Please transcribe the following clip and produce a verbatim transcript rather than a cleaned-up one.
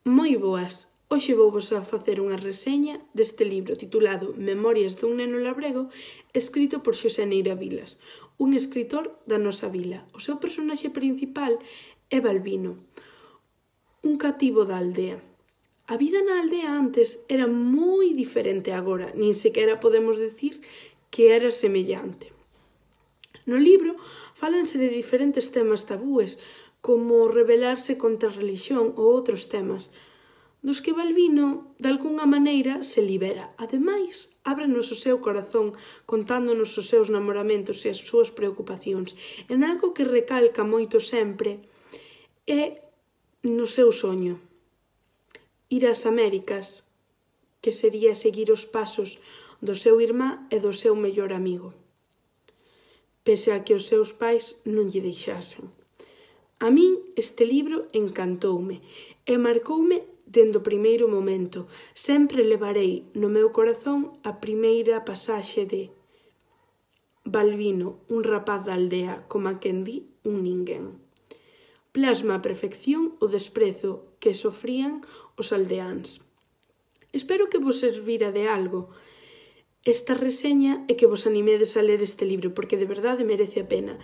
Moi boas! Hoxe vouvos a facer unha reseña deste libro titulado Memorias dun neno labrego, escrito por Xosé Neira Vilas, un escritor da nosa vila. O seu personaxe principal é Balbino, un cativo da aldea. A vida na aldea antes era moi diferente agora, nin sequera podemos decir que era semellante. No libro fálanse de diferentes temas tabúes, como rebelarse contra a religión ou outros temas, dos que Balbino, de algunha maneira, se libera. Ademais, ábrenos o seu corazón contándonos os seus namoramentos e as súas preocupacións. En algo que recalca moito sempre é no seu soño. Ir ás Américas, que sería seguir os pasos do seu irmá e do seu mellor amigo, pese a que os seus pais non lle deixasen. A min este libro encantoume e marcoume dende o primeiro momento. Sempre levarei no meu corazón a primeira pasaxe de Balbino, un rapaz da aldea, como a quen di un ninguén. Plasma a perfección o desprezo que sofrían os aldeáns. Espero que vos servira de algo esta reseña e que vos animedes a ler este libro, porque de verdade merece a pena.